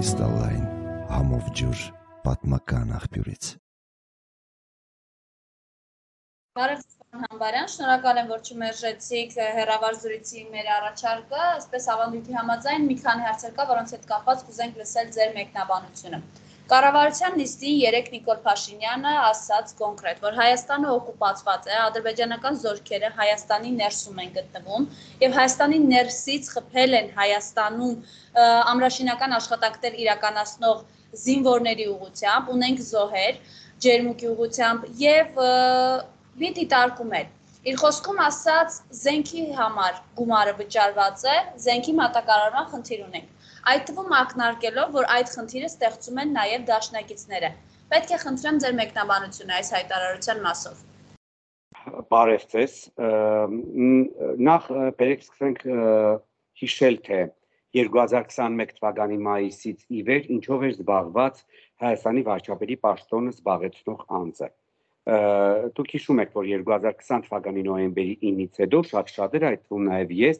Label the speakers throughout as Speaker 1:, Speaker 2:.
Speaker 1: Կրիստալային համով ջուր պատմական աղբյուրից։
Speaker 2: Բարև Պարոն Համբարյան, շնորհակալ եմ, որ չմերժեցիք հեռավար զրույցի մեր առաջարկը, այսպես ավանդույթի համաձայն մի քանի հարցեր կա, որոնց հետ կապված կուզենք լսել ձեր մեկնաբանությունը։ Կառավարության նիստին երեկ Նիկոլ Փաշինյանը ասաց կոնկրետ, որ Հայաստանը օկուպացված է, ադրբեջանական զորքերը Հայաստանի ներսում են գտնվում եւ Հայաստանի ներսից խփել են Հայաստանում ամրաշինական աշխատանքներ իրականացնող զինվորների ուղղությամբ, ունենք զոհեր, ջերմուկի ուղղությամբ եւ մի դիտարկում էր։ Իր խոսքում ասաց, զենքի համար գումարը վճարված է, զենքի մատակարարման խնդիր ունենք։ Այդ թվում ակնարկելով, որ այդ խնդիրը ստեղծում են նաև դաշնակիցները։ Պետք է խնդրեմ ձեր մեկնաբանությունը այս հայտարարության մասով։
Speaker 3: Բարև ձեզ։ Նախ բերեք սկսենք հիշել, թե 2021 թվականի մայիսից ի վեր ինչով էր զբաղված Հայաստանի վարչապետի պաշտոնը զբաղեցնող անձը։ Դուք հիշում եք, որ 2020 թվականի նոյեմբերի 9-ից հետո շատ-շատերը, այդ թվում նաև ես,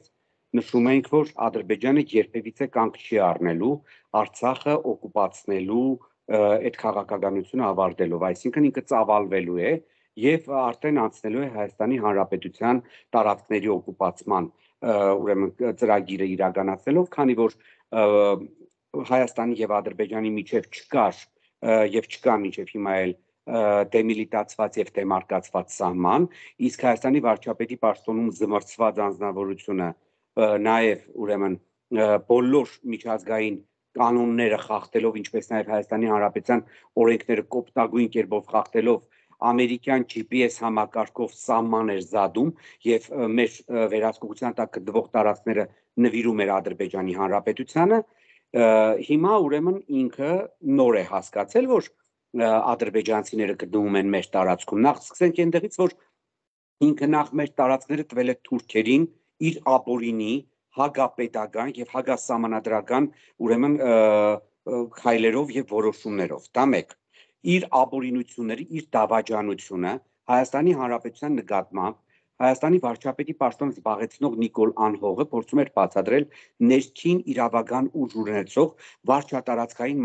Speaker 3: նշում ենք, որ Ադրբեջանը երբևիցե կանգ չի առնելու Արցախը օկուպացնելու այդ քաղաքականությունը ավարտելով, այսինքն ինքը ծավալվելու է եւ արդեն անցնելու է Հայաստանի Հանրապետության տարածքների օկուպացման ուրեմն ծրագիրը իրականացնելով, քանի որ Հայաստանի եւ Ադրբեջանի միջև չկար եւ չկա միջև հիմա էլ դեմիլիտացված եւ դեմարկացված սահման, իսկ Հայաստանի վարչապետի պաշտոնում զմրցված անձնավորությունը նաև ուրեմն բոլոր միջազգային կանոնները խախտելով, ինչպես նաև Հայաստանի Հանրապետության օրենքները կոպտագույն կերպով խախտելով, ամերիկյան GPS համակարգով սահման էր զադում եւ մեր վերահսկողության տակ գտնվող տարածքները նվիրում էր Ադրբեջանի Հանրապետությանը, հիմա ուրեմն ինքը նոր է հասկացել, որ ադրբեջանցիները գտնվում են մեր տարածքում։ Նախ սկսենք այնտեղից, որ ինքը նախ մեր տարածքները տվել է թուրքերին իր ապօրինի հագապետական եւ հագասահմանադրական ուրեմն քայլերով եւ որոշումներով։ Դա մեկ։ Իր ապօրինությունները, իր դավաճանությունը Հայաստանի Հանրապետության նկատմամբ Հայաստանի վարչապետի պաշտոնը զբաղեցնող Նիկոլ Անհողը փորձում էր բացատրել ներքին իրավական ուժ ունեցող վարչատարածքային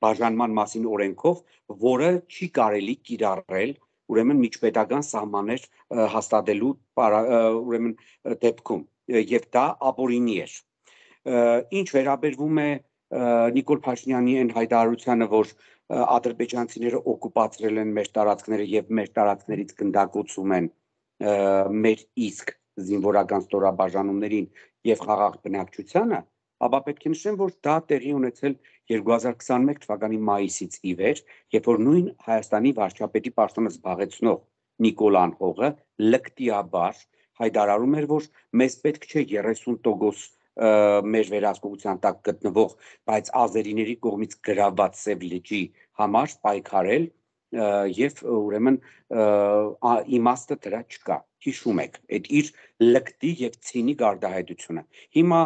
Speaker 3: բաժանման մասին օրենքով, որը չի կարելի կիրառել ուրեմն միջպետական սահմաններ հաստատելու ուրեմն դեպքում եւ դա ապօրինի էր։ Ինչ վերաբերվում է Նիկոլ Փաշինյանի այն հայտարարությանը, որ ադրբեջանցիները օկուպացրել են մեր տարածքները եւ մեր տարածքներից գնդակոծում են մեր իսկ զինվորական ստորաբաժանումներին եւ խաղաղ բնակչությանը, ապա պետք է նշեմ, որ դա տեղի ունեցել 2021 թվականի մայիսից ի վեր, երբ որ նույն Հայաստանի վարչապետի պաշտոնը զբաղեցնող Նիկոլ Անհողը լկտիաբար հայտարարում էր, որ մեզ պետք չէ 30% մեր վերահսկողության տակ գտնվող, բայց ազերիների կողմից գրավված Սև լճի համար պայքարել եւ ուրեմն իմաստը դրա չկա։ Հիշում եք այդ իր լկտի եւ ցինիկ արտահայտությունը։ Հիմա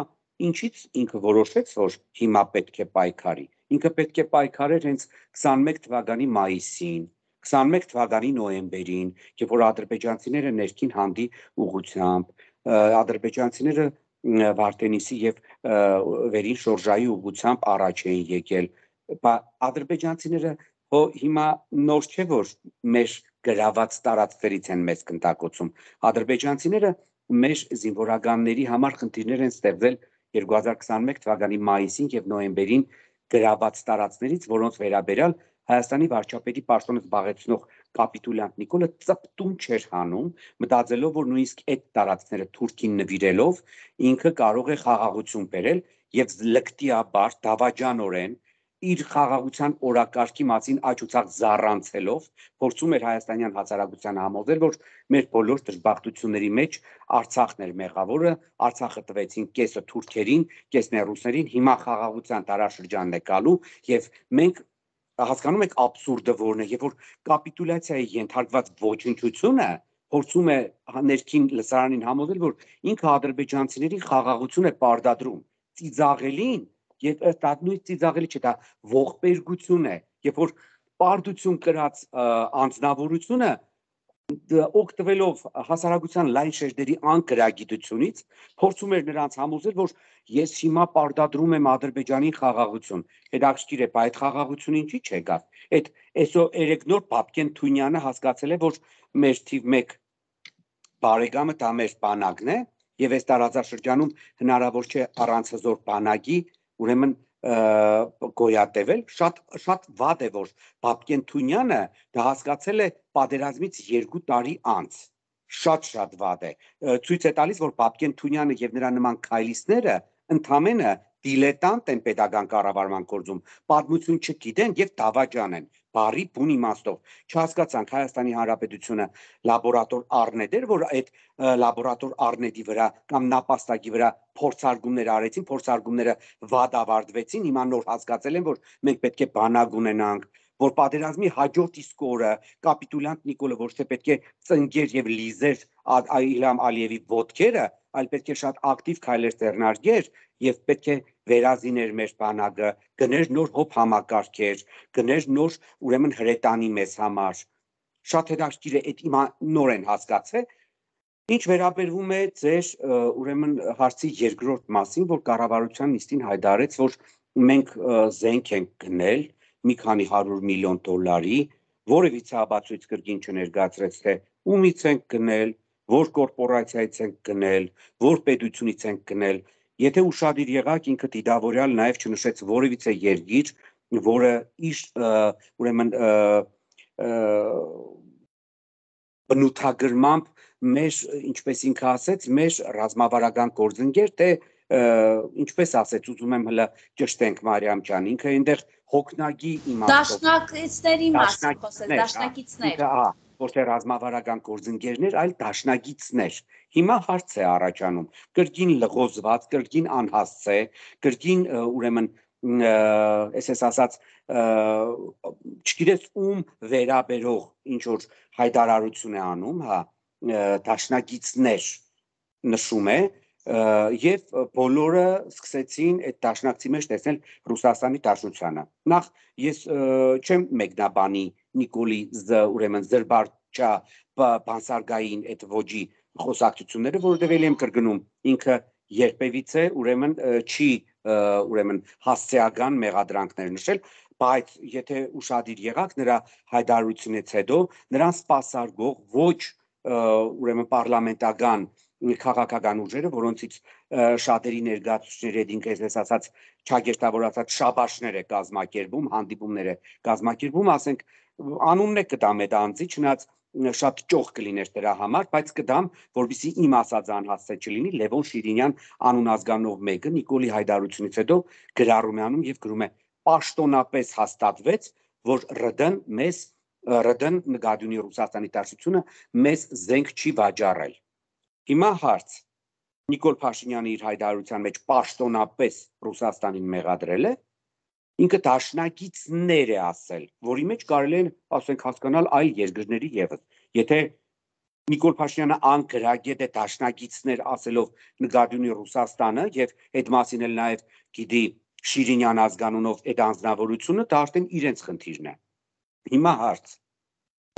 Speaker 3: ինչից ինքը որոշեց, որ հիմա պետք է պայքարի։ Ինքը պետք է պայքարեր հենց 21 թվականի մայիսին, 21 թվականի նոյեմբերին, երբ որ ադրբեջանցիները ներքին հանդի ուղղությամբ, ադրբեջանցիները Վարդենիսի եւ վերին շորժայի ուղղությամբ առաջ էին եկել։ Ադրբեջանցիները հիմա նոր չէ, որ մեր գրաված տարածքներից են մեզ գնդակոծում։ Ադրբեջանցիները մեր զինվորականների համար խնդիրներ են ստեղծել 2021 թվականի մայիսին եւ նոյեմբերին գրաված տարածքներից, որոնց վերաբերյալ Հայաստանի վարչապետի պաշտոնը զբաղեցնող կապիտուլյանտ Նիկոլը ծպտուն չէր հանում, մտածելով, որ նույնիսկ այդ տարածքները թուրքին նվիրելով ինքը կարող է խաղաղություն բերել եւ լկտիաբար դավաճանորեն իր խաղաղության օրակարգի մասին աճուցակ զառանցելով փորձում էր հայաստանյան հասարակությանը համոզել, որ մեր բոլոր դժբախտությունների մեջ Արցախն էր մեղավորը, Արցախը տվեցին կեսը թուրքերին, կեսն ռուսներին, հիմա խաղաղության տարաշրջանն է գալու եւ մենք հասկանում եք աբսուրդը որն է, երբ որ կապիտուլյացիայի ենթարկված ոչնչությունը փորձում է ներքին լսարանին համոզել, որ ինքը ադրբեջանցիների խաղաղություն է պարտադրում, ծիծաղելին, եւ դա նույն ծիծաղելի չէ, դա ողբերգություն է, երբ որ պարտություն կրած անձնավորությունը օգտվելով հասարակության լայն շերտերի անկրագիտությունից փորձում էր նրանց համոզել, որ ես հիմա պարտադրում եմ Ադրբեջանին խաղաղություն։ Հետաքրքիր է, բայց այդ խաղաղությունը ինչի՞ չեկավ։ Այդ այսօր Էրեգնոր Պապկեն Թունյանը հասկացել է, որ մեր թիվ 1 բարեկամը դա մեր բանակն է, եւ այս տարածաշրջանում հնարավոր չէ առանց հզոր բանակի, ուրեմն գոյատևել, շատ վատ է, որ Պապկեն Թունյանը դա հասկացել է պատերազմից 2 տարի անց, շատ վատ է, ցույց է տալիս, որ Պապկեն Թունյանը եւ նրա նման քայլիստները ընդամենը դիլետանտ են pedagogan կառավարման գործում, պատմություն չգիտեն եւ դավաճան են, բարի բուն իմաստով, չհասկացանք Հայաստանի Հանրապետությունը լաբորատոր առնետ էր, որ այդ լաբորատոր առնետի վրա կամ նապաստակի վրա փորձարկումներ արեցին, փորձարկումները վատ ավարտվեցին, հիմա նոր հասկացել են, որ մենք պետք է բանակ ունենանք, որ պատերազմի հաջորդ իսկ օրը կապիտուլյանտ Նիկոլը ոչ թե պետք է ծնգեր եւ լիզեր Իլհամ Ալիևի ոտքերը, այլ պետք է շատ ակտիվ քայլեր ձեռնարկեր եւ պետք է վերազիներ մեր բանակը, գներ նոր հոբ համակարգեր, գներ նոր ուրեմն հրետանի մեզ համար։ Շատ հետաքրքիր է, այդ հիմա նոր են հասկացել։ Ինչ վերաբերվում է ձեր ուրեմն հարցի երկրորդ մասին, որ կառավարության նիստին հայտարարեց, որ մենք զենք ենք գնել մի քանի 100 միլիոն դոլարի, որևիցե ապացույց կրկին չներկայացրեց, թե ումից ենք գնել, որ կորպորացիայից ենք գնել, որ պետությունից ենք գնել, եթե ուշադիր եղաք, ինքը դիտավորյալ նաև չնշեց որևիցե երկիր, որը իր ուրեմն բնութագրմամբ մեր, ինչպես ինքը ասեց, մեր ռազմավարական գործընկեր, թե ինչպես ասեց, ուզում եմ հլը ճշտենք Մարիամ ջան, ինքը այնտեղ հոգնագի իմաստով
Speaker 2: Դաշնակիցների մասին խոսել, դաշնակիցներ,
Speaker 3: ոչ թե ռազմավարական գործընկերներ, այլ դաշնակիցներ։ Հիմա հարց է առաջանում, կրկին լղոզված, կրկին անհասցե, կրկին ուրեմն այսպես ասած չգիտես ում վերաբերող ինչ որ հայտարարություն է անում, հա, դաշնակիցներ նշում է եւ բոլորը սկսեցին այդ դաշնակցի մեջ տեսնել Ռուսաստանի Դաշնությանը։ Նախ ես չեմ մեկնաբանի Նիկոլի ուրեմն զրբարչա բանսարգային այդ ոճի խոսակցությունները, որովհետև ելի եմ կրկնում, ինքը երբևիցե ուրեմն չի ուրեմն հասցեական մեղադրանքներ նշել, բայց եթե ուշադիր եղաք նրա հայտարարությունից հետո նրան սպասարկող ոչ ուրեմն պարլամենտական քաղաքական ուժերը, որոնցից շատերի ներկայացուցիչների հետ ինքը այսպես ասած չագերտավորացած շաբաշներ է կազմակերպում, հանդիպումներ է կազմակերպում, ասենք անունն է կտամ այդ անձի, չնայած շատ ճոխ կլիներ դրա համար, բայց կդամ, որովհետեւ իմ ասած անհասցե չլինի, Լևոն Շիրինյան անուն ազգանով մեկը Նիկոլի հայտարարությունից հետո գրառում է անում եւ գրում է պաշտոնապես հաստատվեց, որ ՌԴ-ն նկատի Ռուսաստանի Դաշնությունը մեզ զենք չի վաճառել։ Հիմա հարց Նիկոլ Փաշինյանը իր հայտարարության մեջ պաշտոնապես Ռուսաստանին մեղադրել է, ինքը դաշնակիցներ է ասել, որի մեջ կարելի է ասենք հասկանալ այլ երկրների եւս։ Եթե Նիկոլ Փաշինյանը անկրագետ է դաշնակիցներ ասելով նկատի ունի Ռուսաստանը եւ այդ մասին էլ նաեւ գիտի Շիրինյան ազգանունով այդ անձնավորությունը, դա արդեն իրենց խնդիրն է։ Հիմա հարց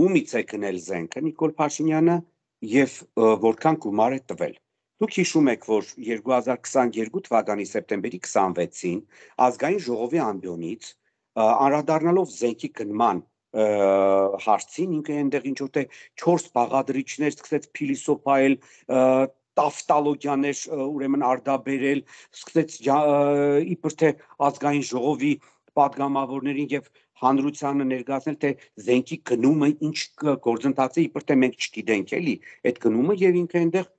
Speaker 3: ումից է գնել զենքը Նիկոլ Փաշինյանը եւ որքան գումար է տվել։ Դուք հիշում եք, որ 2022 թվականի սեպտեմբերի 26-ին ազգային ժողովի ամբիոնից անդրադառնալով զենքի գնման հարցին, ինքը այնտեղ ինչ որ թե 4 բաղադրիչներ սկսեց փիլիսոփայել, տավտալոգիաներ ուրեմն արտաբերել, սկսեց իբր թե ազգային ժողովի պատգամավորներին եւ հանրությանը ներկայացնել, թե զենքի գնումը ինչ գործընթաց է, իբր թե մենք չգիտենք էլի այդ գնումը եւ ինքը այնտեղ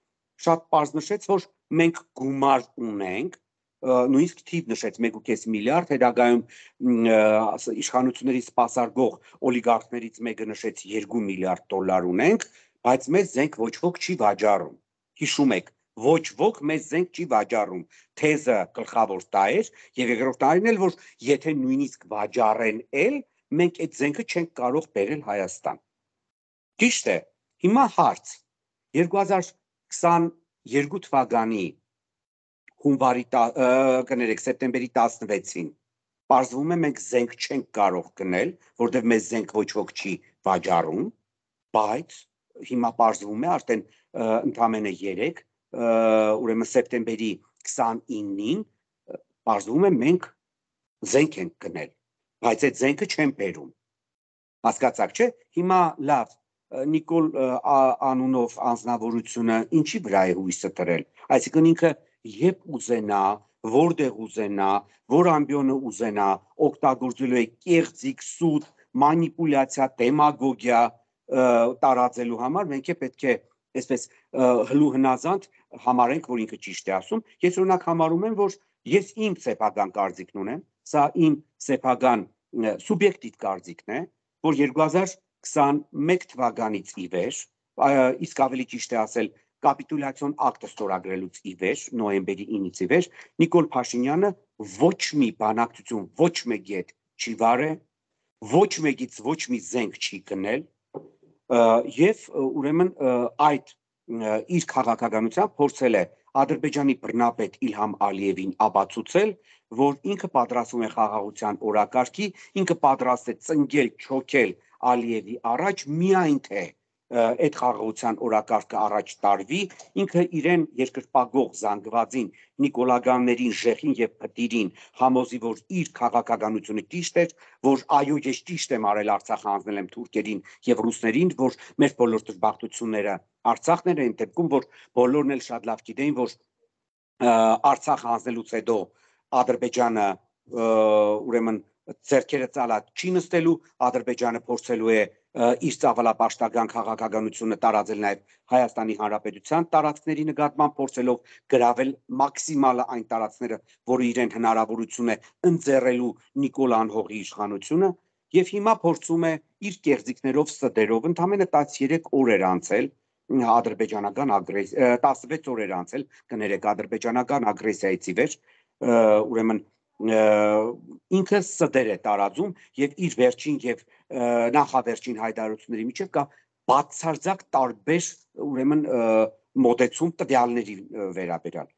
Speaker 3: շատ պարզ նշեց, որ մենք գումար ունենք, նույնիսկ թիվ նշեց 1.5 միլիարդ, հետագայում իշխանությունների սպասարկող օլիգարխներից մեկը նշեց 2 միլիարդ դոլար ունենք, բայց մեզ զենք ոչ ոք չի վաճառում։ Հիշում եք, ոչ ոք մեզ զենք չի վաճառում։ Թեզը գլխավոր դա էր, եւ երկրորդ տարին էլ, որ եթե նույնիսկ վաճառեն էլ, մենք այդ զենքը չենք կարող բերել Հայաստան։ Ճիշտ է։ Հիմա հարց 2022 թվականի սեպտեմբերի 16-ին պարզվում է մենք զենք չենք կարող գնել, որտեղ մեզ զենք ոչ ոք չի վաճառում, բայց հիմա պարզվում է արդեն ընդամենը 3 ուրեմն սեպտեմբերի 29-ին պարզվում է մենք զենք ենք գնել, բայց այդ զենքը չեն բերում։ Հասկացաք, չէ՞։ Հիմա լավ, Նիկոլ անունով անձնավորությունը ինչի վրա է հույսը դրել։ Այսինքն ինքը երբ ուզենա, որտեղ ուզենա, որ ամբիոնը ուզենա, օգտագործելու է կեղծիք, սուտ, մանիպուլյացիա, դեմագոգիա տարածելու համար, մենք պետք է այսպես հլու հնազանդ համարենք, որ ինքը ճիշտ է ասում։ Ես օրինակ համարում եմ, որ ես իմ սեփական կարծիքն ունեմ, սա իմ սեփական սուբյեկտիվ կարծիքն է, որ 2021 թվականից ի վեր, իսկ ավելի ճիշտ է ասել կապիտուլյացիոն ակտը ստորագրելուց ի վեր, նոյեմբերի 9-ից ի վեր, Նիկոլ Փաշինյանը ոչ մի բանակցություն, ոչ մեկի հետ չի վարել, ոչ մեկից ոչ մի զենք չի գնել, եւ ուրեմն այդ իր քաղաքականությամբ փորձել է Ադրբեջանի բռնապետ Իլհամ Ալիևին ապացուցել, որ ինքը պատրաստվում է խաղաղության օրակարգի, ինքը պատրաստ է ծնկել, չոքել Ալիևի առաջ, միայն թե այդ խաղաղության օրակարգը առաջ տարվի, ինքը իրեն երկրպագող զանգվածին, նիկոլագաններին, ժեխին եւ փտիրին համոզի, որ իր քաղաքականությունը ճիշտ էր, որ այո, ես ճիշտ եմ արել Արցախը հանձնել եմ թուրքերին եւ ռուսներին, որ մեր բոլոր դժբախտությունները Արցախն էր, այն դեպքում, որ բոլորն էլ շատ լավ գիտեին, որ Արցախը հանձնելուց հետո Ադրբեջանը ուրեմն ձեռքերը ծալած չի նստելու, Ադրբեջանը փորձելու է իր ծավալապաշտական քաղաքականությունը տարածել նաև Հայաստանի Հանրապետության տարածքների նկատմամբ, փորձելով գրավել մաքսիմալը այն տարածքները, որը իրեն հնարավորություն է ընձեռելու Նիկոլ անհողի իշխանությունը, եւ հիմա փորձում է իր կեղծիքներով ստերով ընդամենը 13 օր էր անցել ադրբեջանական 16 օր էր անցել, կներեք, ադրբեջանական ագրեսիայից ի վեր, ուրեմն ինքը ստեր է տարածում եւ իր վերջին եւ նախավերջին հայտարարությունների միջև կա բացարձակ տարբեր ուրեմն մոտեցում տվյալների վերաբերյալ։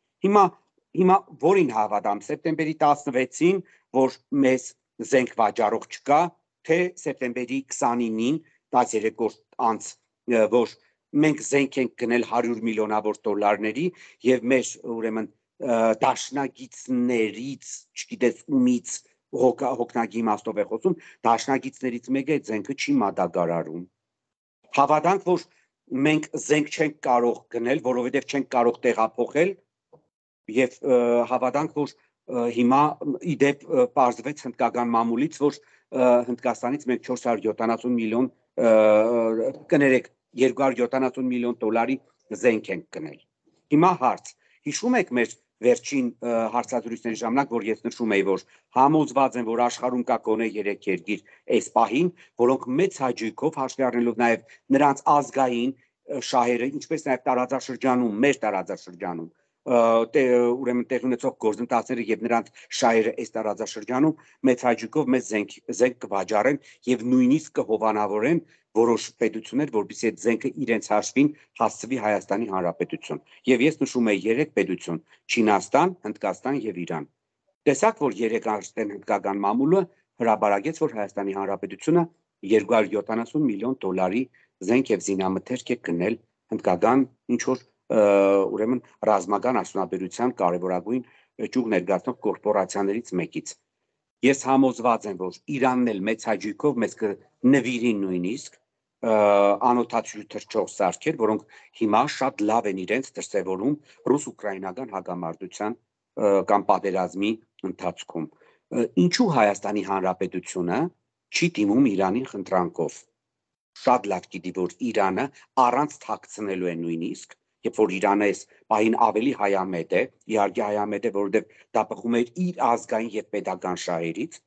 Speaker 3: Հիմա որին հավատամ, սեպտեմբերի 16-ին, որ մեզ զենք վաճառող չկա, թե սեպտեմբերի 29-ին 13 օր անց, որ մենք զենք ենք գնել 100 միլիոնավոր դոլարների եւ մեր ուրեմն դաշնագիցներից, չգիտես ումից հոգնագի իմաստով է խոսում, դաշնագիցներից մեկը այդ զենքը չի մատակարարում։ Հավատանք, որ մենք զենք չենք կարող գնել, որովհետև չենք կարող տեղափոխել եւ հավատանք, որ հիմա իդեպ պարզվեց հնդկական մամուլից, որ Հնդկաստանից մենք 470 միլիոն կներեք 270 միլիոն դոլարի զենք ենք գնել։ Հիմա հարց, հիշում եք մեր վերջին հարցազրույցների ժամանակ, որ ես նշում էի, որ համոզված եմ, որ աշխարհում կա գոնե 3 երկիր այս պահին, որոնք մեծ հաճույքով հաշվի առնելով նաև նրանց ազգային շահերը, ինչպես նաև տարածաշրջանում, մեր տարածաշրջանում, ուրեմն տեղ ունեցող գործընթացները եւ նրանց շահերը այս տարածաշրջանում մեծ հաճույքով մեզ զենք կվաճառեն եւ նույնիսկ կհովանավորեն որոշ պետություններ, որպեսզի այդ զենքը իրենց հաշվին հասցվի Հայաստանի Հանրապետություն։ Եվ ես նշում եմ 3 պետություն՝ Չինաստան, Հնդկաստան եւ Իրան։ Տեսակ, որ 3 արդեն հնդկական մամուլը հրաբարագեց, որ Հայաստանի Հանրապետությունը 270 միլիոն դոլարի զենք եւ զինամթերք է գնել հնդկական ինչ որ ուրեմն ռազմական արդյունաբերության կարևորագույն ճյուղ ներկայացնող կորպորացիաներից մեկից։ Ես համոզված եմ, որ Իրանն էլ մեծ հաճույքով մեզ կնվիրի նույնիսկ անօթաչու թռչող սարքեր, որոնք հիմա շատ լավ են իրենց դրսևորում ռուս-ուկրաինական հակամարտության կամ պատերազմի ընթացքում։ Ինչու Հայաստանի Հանրապետությունը չի դիմում Իրանին խնդրանքով։ Շատ լավ գիտի, որ Իրանը առանց թաքցնելու է նույնիսկ, երբ որ Իրանը այս պահին ավելի հայամետ է, իհարկե հայամետ է, որովհետև դա բխում է իր ազգային եւ պետական շահերից։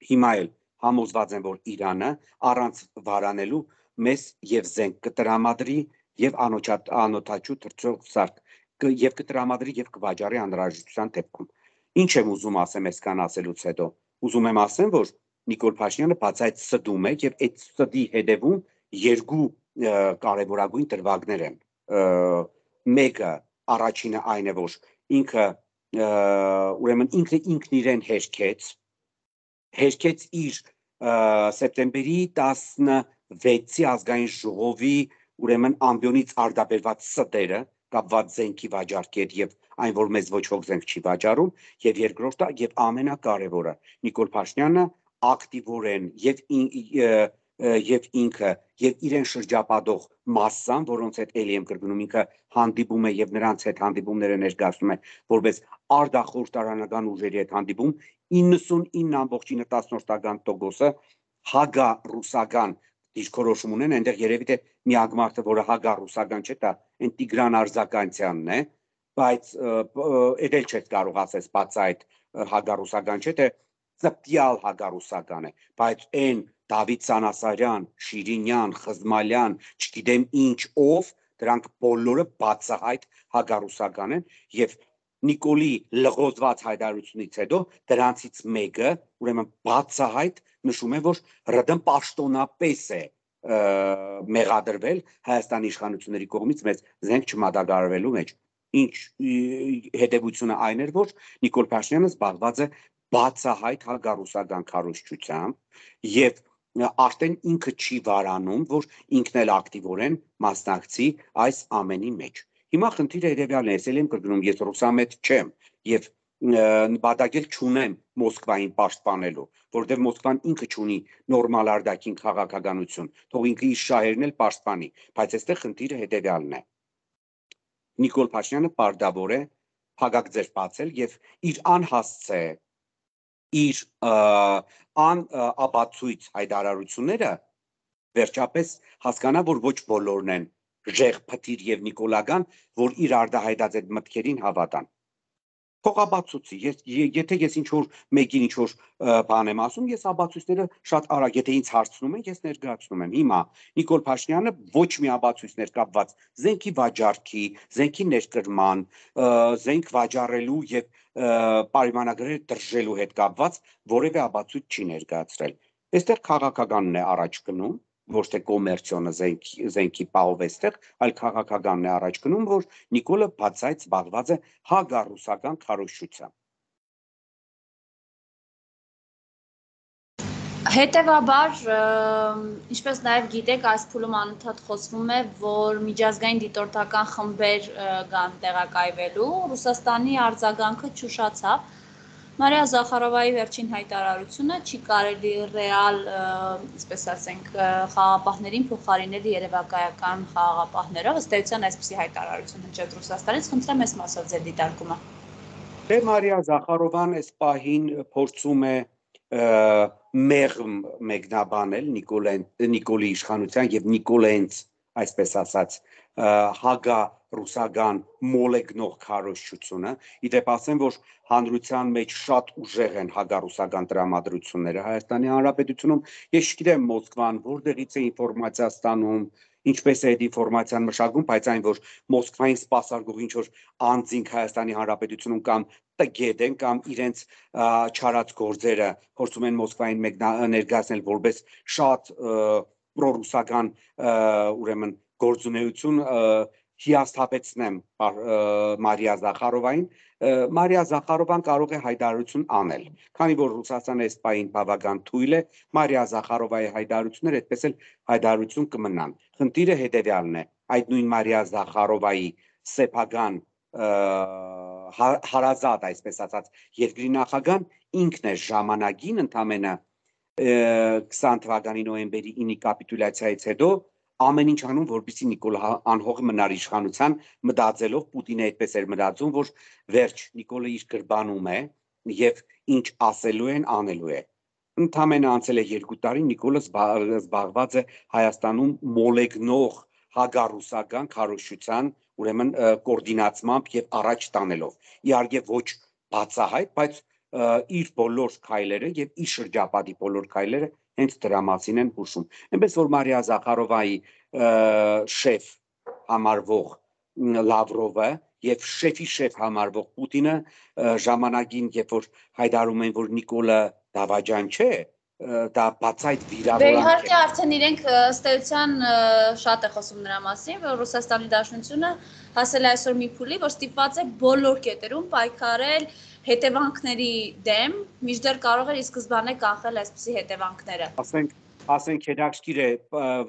Speaker 3: Հիմա էլ համոզված եմ, որ Իրանը առանց վարանելու մեզ եւ զենք կտրամադրի եւ անօթաչու թռչող սարք եւ կտրամադրի եւ կվաճառի անհրաժեշտության դեպքում։ Ինչ եմ ուզում ասեմ այսքան ասելուց հետո։ Ուզում եմ ասեմ, որ Նիկոլ Փաշինյանը բացայց ստում է եւ այդ ստի հետևում 2 կարևորագույն դրվագներ են։ Մեկը առաջինը այն է, որ ինքը ուրեմն ինքն իրեն հերքեց իր սեպտեմբերի 16-ի ազգային ժողովի ուրեմն ամբիոնից արդաբերված ստերը կապված զենքի վաճառքի հետ եւ այն որ մեզ ոչ ոք զենք չի վաճառում եւ երկրորդը եւ ամենակարևորը Նիկոլ Փաշինյանը ակտիվորեն եւ ինքը եւ իրեն շրջապատող մասսան, որոնց հետ էլի եմ կրկնում ինքը հանդիպում է եւ նրանց հետ հանդիպումները ներկայացնում է որպես արդախորհրդարանական ուժերի հետ հանդիպում 99.9%-ը հագա-ռուսական դիրքորոշում ունեն, այնտեղ երևի թե միակ մարդը, որը հագա-ռուսական չէ, դա այն Տիգրան Արզականցյանն է, բայց էլ չէ կարող ասես բաց այդ հագա-ռուսական չէ, թե ծպտյալ հագա-ռուսական է, բայց այն Դավիթ Սանասարյան, Շիրինյան, Խզմալյան, չգիտեմ ինչ ով, դրանք բոլորը բացահայտ հագա-ռուսական են եւ Նիկոլի լղոզված հայտարարությունից հետո դրանցից մեկը, ուրեմն բացահայտ նշում է, որ ՌԴ-ն պաշտոնապես է մեղադրվել Հայաստանի իշխանությունների կողմից մեծ զենք չմատակարարվելու մեջ։ Ինչ հետևությունը այն էր, որ Նիկոլ Փաշինյանը զբաղված է բացահայտ հագա-ռուսական քարոզչությամբ եւ արդեն ինքը չի վարանում, որ ինքն էլ ակտիվորեն մասնակցի այս ամենի մեջ։ Հիմա խնդիրը երևյալն է, ես եմ կրկնում, ես ռուսամետ չեմ եւ նպատակել չունեմ Մոսկվային պաշտպանելու, որովհետեւ Մոսկվան ինքը չունի նորմալ արդակին քաղաքականություն, թող ինքը իր շահերն էլ պաշտպանի, բայց այստեղ խնդիրը հետեւյալն է։ Նիկոլ Փաշինյանը պարտավոր է փակագծեր բացել եւ իր անհասցե իր անապացույց հայտարարությունները վերջապես հասկանա, որ ոչ բոլորն են Ժեղ Փթիր եւ Նիկոլական, որ իր արդահայտած այդ մտքերին հավատան։ Փոխաբացուցի, եթե ես ինչ-որ մեկին ինչ-որ բան եմ ասում, ես աբացույցները շատ արագ, եթե ինձ հարցնում են, ես ներկայացնում եմ։ Հիմա Նիկոլ Փաշինյանը ոչ մի աբացույցներ կապված զենքի վաճառքի, զենքի ներկրման, զենք վաճառելու եւ պայմանագրեր տրժելու հետ կապված որևէ աբացույց չի ներկայացրել։ Այստեղ քաղաքականն է առաջ գնում, ոչ թե կոմերցիոնը զենքի պահով էստեղ, այլ քաղաքականն է առաջ գնում, որ Նիկոլը բացայց զբաղված է հագա-ռուսական քարոզչությամբ։
Speaker 2: Հետևաբար, ինչպես նաև գիտեք, այս փուլում անընդհատ խոսվում է, որ միջազգային դիտորդական խմբեր կան տեղակայվելու, Ռուսաստանի արձագանքը չուշացավ։ Մարիա Զախարովայի վերջին հայտարարությունը չի կարելի ռեալ, այսպես ասենք, խաղաղապահներին փոխարինել երևակայական խաղաղապահներով, ըստ էության այսպիսի հայտարարություն հնչեց Ռուսաստանից, խնդրեմ այս մասով ձեր դիտարկումը։
Speaker 3: Դե Մարիա Զախարովան այս պահին փորձում է մեղմ մեկնաբանել Նիկոլի իշխանության եւ Նիկոլենց, այսպես ասած, հագա ռուսական մոլեգնող քարոզչությունը, իդեպ ասեմ, որ հանրության մեջ շատ ուժեղ են հագա-ռուսական տրամադրությունները Հայաստանի Հանրապետությունում, ես չգիտեմ Մոսկվան որտեղից է ինֆորմացիա ստանում, ինչպես է այդ ինֆորմացիան մշակում, բայց այն, որ Մոսկվային սպասարկող ինչ-որ անձինք Հայաստանի Հանրապետությունում կամ տգետ են կամ իրենց չարած գործերը փորձում են Մոսկվային ներկայացնել որպես շատ պրոռուսական ուրեմն գործունեություն, հիասթափեցնեմ Մարիա Զախարովային, Մարիա Զախարովան կարող է հայտարարություն անել, քանի որ Ռուսաստանը այս պահին բավական թույլ է, Մարիա Զախարովայի հայտարարությունները այդպես էլ հայտարարություն կմնան։ Խնդիրը հետևյալն է, այդ նույն Մարիա Զախարովայի սեփական հարազատ, այսպես ասած, երկրի նախագահան ինքն է ժամանակին ընդամենը 20 թվականի նոյեմբերի 9-ի կապիտուլյացիայից հետո ամեն ինչ անում, որպեսզի Նիկոլ անհող մնար իշխանության, մտածելով Պուտինը այդպես էր մտածում, որ վերջ Նիկոլը իր գրբանում է եւ ինչ ասելու են, անելու է։ Ընդամենը անցել է 2 տարի, Նիկոլը զբաղված է Հայաստանում մոլեգնող հագա-ռուսական քարոզչության, ուրեմն կոորդինացմամբ եւ առաջ տանելով։ Իհարկե ոչ բացահայտ, բայց իր բոլոր քայլերը եւ իր շրջապատի բոլոր քայլերը հենց դրա մասին են հուշում։ Այնպես որ Մարիա Զախարովայի շեֆ համարվող Լավրովը եւ շեֆի շեֆ համարվող Պուտինը ժամանակին, երբ որ հայտարարում են, որ Նիկոլը դավաճան չէ, դա բացայտ վիրավորանք է։
Speaker 2: Իհարկե արդեն իրենք ըստ էության շատ է խոսում նրա մասին, որ Ռուսաստանի Դաշնությունը հասել է այսօր մի փուլի, որ ստիպված է բոլոր կետերում պայքարել հետևանքների դեմ, մինչդեռ կարող էր ի սկզբանե կանխել այսպիսի հետևանքները։
Speaker 3: ասենք հետաքրքիր է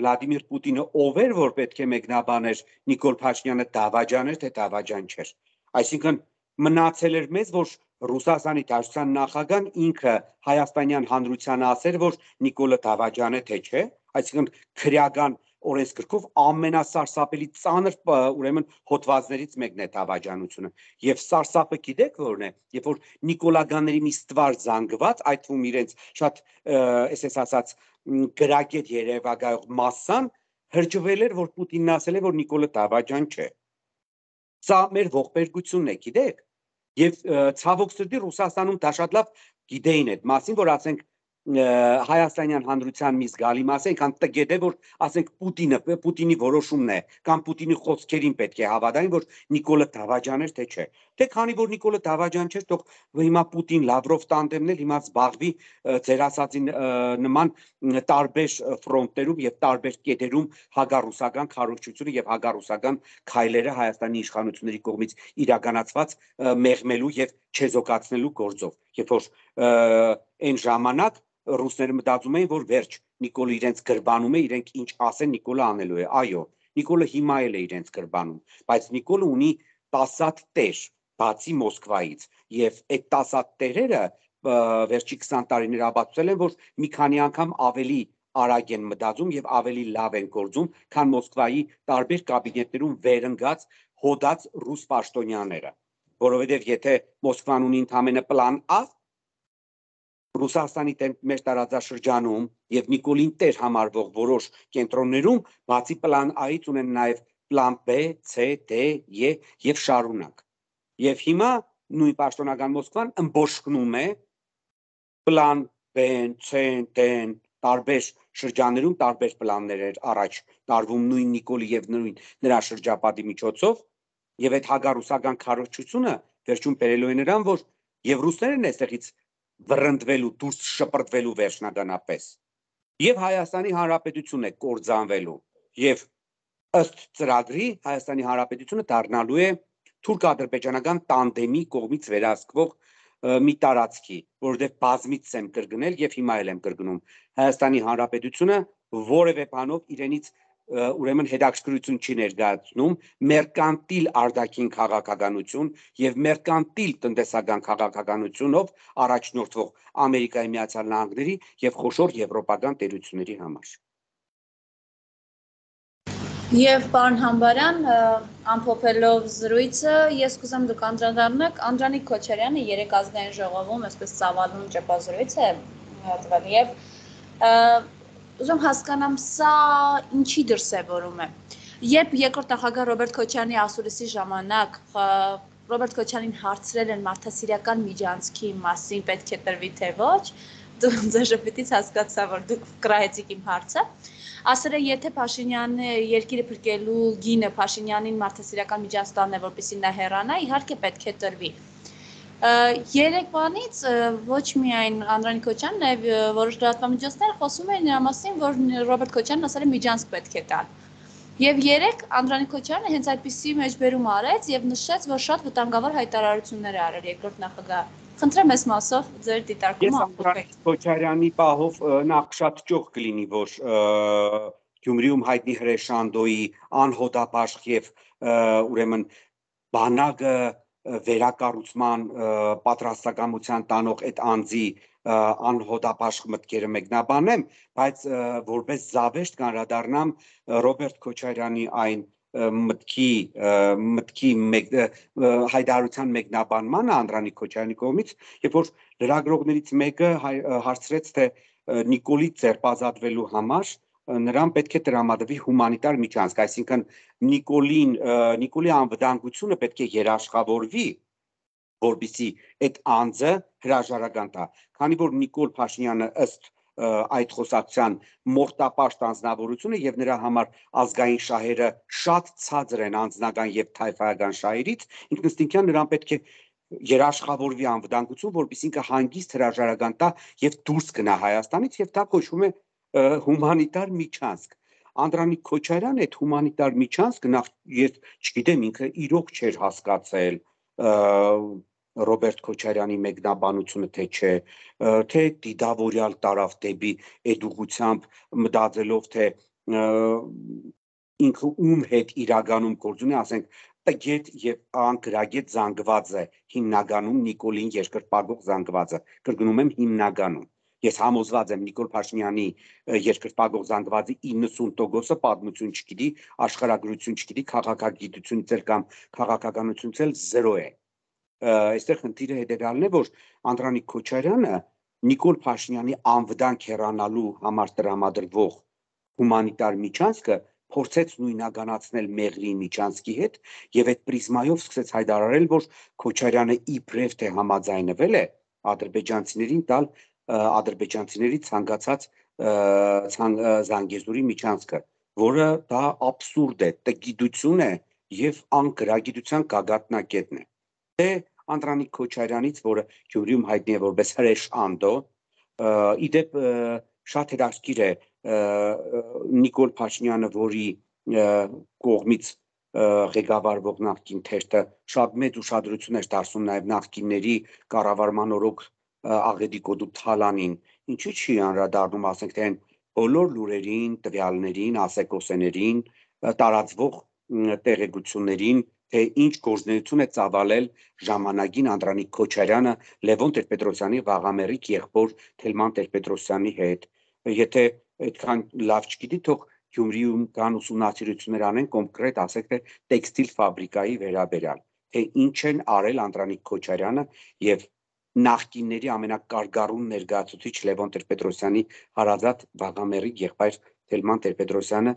Speaker 3: Վլադիմիր Պուտինը ով էր, որ պետք է մեկնաբաներ Նիկոլ Փաշինյանը դավաճան էր, թե դավաճան չէր։ Այսինքն մնացել էր մեզ, որ Ռուսաստանի Դաշնության նախագահան ինքը հայաստանյան հանրությանը ասեր, որ Նիկոլը դավաճան է, թե չէ, այսինքն քրեական օրենսգրքով ամենասարսափելի ծանր ուրեմն հոդվածներից մեկն է դավաճանությունը։ Եվ սարսափը գիտեք որն է, երբ որ նիկոլագանների մի ստվար զանգված, այդ թվում իրենց շատ այսպես ասած գրագետ երևակայող մասսան հրճվել էր, որ Պուտինն ասել է, որ Նիկոլը դավաճան չէ։ Սա մեր ողբերգությունն է, գիտեք։ Եվ ցավոք սրտի Ռուսաստանում դա շատ լավ գիտեին այդ մասին, որ ասենք հայաստանյան հանրության մի զգալի մասը այնքան տգետ է, որ ասենք Պուտինի որոշումն է կամ Պուտինի խոսքերին պետք է հավատային, որ Նիկոլը դավաճան էր, թե չէ։ Թե քանի որ Նիկոլը դավաճան չէր, թող հիմա Պուտին-Լավրով տանդեմն էլ հիմա զբաղվի ձեր ասածին նման տարբեր ֆրոնտերում եւ տարբեր կետերում հագարուսական քարոզչությունը եւ հագարուսական քայլերը Հայաստանի իշխանությունների կողմից իրականացված մեղմելու եւ չեզոքացնելու գործով։ Երբ որ այն ժամանակ ռուսները մտածում էին, որ վերջ Նիկոլը իրենց գրբանում է, իրենք ինչ ասեն Նիկոլը անելու է։ Այո, Նիկոլը հիմա էլ է իրենց գրբանում, բայց Նիկոլը ունի 10 տեր, բացի Մոսկվայից, եւ այդ 10 տերերը վերջի 20 տարիներ ապացուցել են, որ մի քանի անգամ ավելի արագ են մտածում եւ ավելի լավ են գործում, քան Մոսկվայի տարբեր կաբինետներում վերընկած հոդած ռուս պաշտոնյաները, որովհետեւ եթե Մոսկվան ունի ընդամենը պլան A, Ռուսաստանի մեր տարածաշրջանում եւ Նիկոլին տեր համարվող որոշ կենտրոններում բացի պլան A-ից ունեն նաեւ պլան B, C, D, E եւ շարունակ։ Եվ հիմա նույն պաշտոնական Մոսկվան ըմբոշխնում է պլան B-ն, C-ն, D-ն, տարբեր շրջաններում տարբեր պլաններ էր առաջ տարվում նույն Նիկոլի եւ նույն նրա շրջապատի միջոցով եւ այդ հագարուսական քարոզչությունը վերջում բերելու է նրան, որ եւ ռուսներն այստեղից վռնդվելու, դուրս շպրտվելու վերջնականապես եւ Հայաստանի Հանրապետությունն է կործանվելու եւ ըստ ծրագրի Հայաստանի Հանրապետությունը դառնալու է թուրք-ադրբեջանական տանդեմի կողմից վերահսկվող մի տարածքի, որովհետև բազմից եմ կրկնել եւ հիմա էլ եմ կրկնում, Հայաստանի Հանրապետությունը որևէ բանով իրենից ուրեմն հետաքրքրություն չի ներկայացնում մերկանտիլ արտաքին քաղաքականություն եւ մերկանտիլ տնտեսական քաղաքականությունով առաջնորդվող Ամերիկայի Միացյալ Նահանգների եւ խոշոր եվրոպական տերությունների համար։
Speaker 2: Եվ պարոն Համբարյան, ամփոփելով զրույցը, ես կուզեմ դուք անդրադառնաք Անդրանիկ Քոչարյանը երեք ազգային ժողովում այսպես ծավալուն ճեպազրույց է տվել եւ ուզում հասկանամ սա ինչի դրսևորում է։ Երբ երկրորդ նախագահ Ռոբերտ Քոչարյանի ասուլիսի ժամանակ Ռոբերտ Քոչարյանին հարցրել են մարդասիրական միջանցքի մասին պետք է տրվի թե ոչ, դու ձեր ժպիտից հասկացա, որ դուք կրահեցիք իմ հարցը։ Ասել է, եթե Փաշինյանը երկիրը փրկելու գինը Փաշինյանին մարդասիրական միջանց տանն է, որպեսզի նա հեռանա, իհարկե պետք է տրվի։ Երեք բանից ոչ միայն Անդրանիկ Քոչարյանն, այլ որոշ լրատվամիջոցներ խոսում են նրա մասին, որ Ռոբերտ Քոչարյանն ասել է միջանցք պետք է տալ։ Եվ երեք Անդրանիկ Քոչարյանը հենց այդպիսի մեջբերում արեց եւ նշեց, որ շատ վտանգավոր հայտարարություններ է արել երկրորդ նախագահը։ Խնդրեմ այս մասով ձեր դիտարկումը ամփոփեք։
Speaker 3: Քոչարյանի պահով նախ շատ ճոխ կլինի, որ Գյումրիում հայտնի Հրեշանդոյի անհոդապաշտ եւ ուրեմն բանակը վերակառուցման պատրաստակամության տանող այդ անձի անհոդապաշտ մտքերը մեկնաբանեմ, բայց որպես զավեշտ կանրադառնամ Ռոբերտ Քոչարյանի այն մտքի հայտարարության մեկնաբանմանը Անդրանիկ Քոչարյանի կողմից, երբ որ լրագրողներից մեկը հարցրեց, թե Նիկոլի ձերբազատվելու համար նրան պետք է տրամադրվի հումանիտար միջանցք, այսինքն Նիկոլի անվտանգությունը պետք է երաշխավորվի, որպեսզի այդ անձը հրաժարական տա, քանի որ Նիկոլ Փաշինյանը ըստ այդ խոսակցության մորտապաշտ անձնավորությունը եւ նրա համար ազգային շահերը շատ ցածր են անձնական եւ թայֆայական շահերից, ինքնըստինքյան նրան պետք է երաշխավորվի անվտանգություն, որպեսզի ինքը հանգիստ հրաժարական տա եւ դուրս գնա Հայաստանից եւ դա կոչվում է հումանիտար միջանցք։ Անդրանիկ Քոչարյանը այդ հումանիտար միջանցքը նախ ես չգիտեմ ինքը իրոք չէր հասկացել Ռոբերտ Քոչարյանի մեկնաբանությունը թե չէ, թե դիդավորյալ տարավ դեպի այդ ուղղությամբ մտածելով թե ինքը ում հետ իրականում գործունի, ասենք տգետ եւ անկրագետ զանգված է հիմնականում Նիկոլին երկրպագող զանգվածը, կրկնում եմ հիմնականում։ Ես համոզված եմ Նիկոլ Փաշինյանի երկրպագող զանգվածի 90%-ը պատմություն չգիտի, աշխարհագրություն չգիտի, քաղաքագիտությունից էլ կամ քաղաքականությունից էլ 0 է։ Այստեղ խնդիրը հետեւյալն է, որ Անդրանիկ Քոչարյանը Նիկոլ Փաշինյանի անվտանգ հեռանալու համար տրամադրվող հումանիտար միջանցքը փորձեց նույնականացնել Մեղրի միջանցքի հետ եւ այդ պրիզմայով սկսեց հայտարարել, որ Քոչարյանը իբրև թե համաձայնվել է ադրբեջանցիներին տալ ադրբեջանցիների ցանկացած Զանգեզուրի միջանցքը, որը դա աբսուրդ է, տգիտություն է եւ անկրագիտության գագաթնակետն է։ Թե Անդրանիկ Քոչարյանից, որը Գյումրիում հայտնի է որպես հրեշ Անդո, իդեպ շատ հետաքրքիր է Նիկոլ Փաշինյանը, որի կողմից ղեկավարվող նախկին թերթը շատ մեծ ուշադրություն էր դարձնում նաև նախկինների կառավարման օրոք Աղեդիկոդու Թալանին, ինչու՞ չի անդրադառնում, ասենք թե այն բոլոր լուրերին, տվյալներին, ասեկոսեներին, տարածվող տեղեկություններին, թե ինչ գործունեություն է ծավալել ժամանակին Անդրանիկ Քոչարյանը Լևոն Տեր-Պետրոսյանի վաղամերիկ եղբոր Թելման Տեր-Պետրոսյանի հետ։ Եթե այդքան լավ չգիտի, թող Գյումրիում կան ուսումնասիրություններ անեն կոնկրետ, ասեք թե տեքստիլ ֆաբրիկայի վերաբերյալ, թե ինչ են արել Անդրանիկ Քոչարյանը եւ նախկինների ամենակարգառուն ներկայացուցիչ Լևոն Տեր-Պետրոսյանի հարազատ վաղամերիկ եղբայր Թելման Տեր-Պետրոսյանը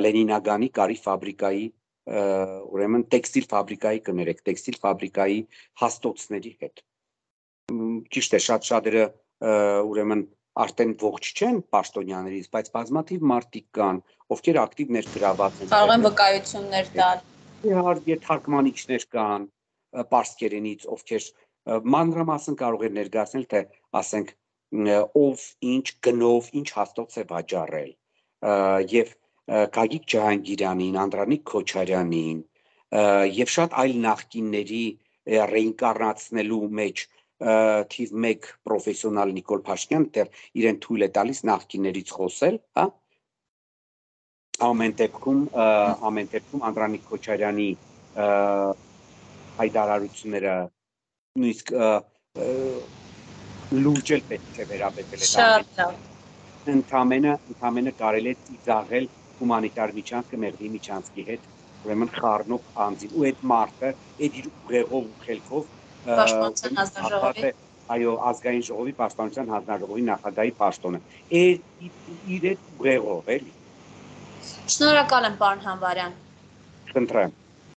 Speaker 3: Լենինագանի կարի ֆաբրիկայի ուրեմն տեքստիլ ֆաբրիկայի կներեք, տեքստիլ ֆաբրիկայի հաստոցների հետ։ Ճիշտ է, շատ-շատերը ուրեմն արդեն ողջ չեն պաշտոնյաներից, բայց բազմաթիվ մարդիկ կան, ովքեր ակտիվ ներգրաված են։
Speaker 2: Կարող են վկայություններ տալ։
Speaker 3: Իհարկե թարգմանիչներ կան պարսկերենից, ովքեր մանրամասն կարող են ներկայացնել, թե ասենք ով ինչ գնով, ինչ հաստոց է վաճառել։ Եվ Գագիկ Ջահանգիրյանին, Անդրանիկ Քոչարյանին եւ շատ այլ նախկինների ռեինկարնացնելու մեջ թիվ 1 պրոֆեսիոնալ Նիկոլ Փաշինյանը դեռ իրեն թույլ է տալիս նախկիններից խոսել, հա։ Ամեն դեպքում Անդրանիկ Քոչարյանի հայտարարությունները նույնիսկ լուրջ էլ պետք է վերաբերել
Speaker 2: Շատ լավ։
Speaker 3: Ընդամենը կարելի է ծիծաղել հումանիտար միջանցքը Մեղրի միջանցքի հետ, ուրեմն խառնող անձին, ու այդ մարդը այդ իր ուղեղով ու խելքով
Speaker 2: Պաշտպանության հանձնաժողովի
Speaker 3: այո, ազգային ժողովի պաշտպանության հանձնաժողովի նախագահի պաշտոնը իր այդ ուղեղով էլի։
Speaker 2: Շնորհակալ եմ, պարոն Համբարյան։
Speaker 3: Խնդրեմ։